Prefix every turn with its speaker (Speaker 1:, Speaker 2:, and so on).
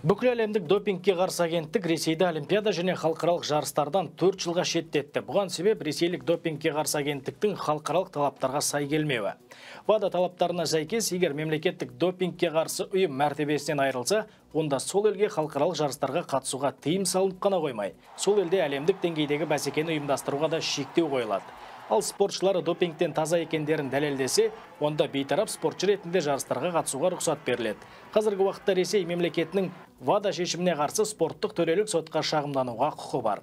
Speaker 1: Бүкіл әлемдік допингке қарсы агенттік Ресейді олимпиада және халықаралық жарыстардан 4 жылға шеттетті. Бұған себеп ресейлік допингке қарсы агенттіктің халықаралық талаптарға сай келмеуі. ВАДА талаптарына сәйкес, егер мемлекеттік допингке қарсы ұйым мәртебесінен айырылса, онда сол елге халықаралық жарыстарға қатысуға тыйым салынып қана қоймай, сол елде әлемдік деңгейдегі бәсекені ұйымдастыруға да шектеу қойылады. Ал спортшылары допингтен таза екендерін дәлелдесе, онда бейтарап спортшы ретінде жарыстарға қатысуға рұқсат беріледі. Қазіргі уақытта Ресей мемлекетінің ВАДА шешіміне қарсы спорттық төрелік сотқа шағымдануға құқы бар.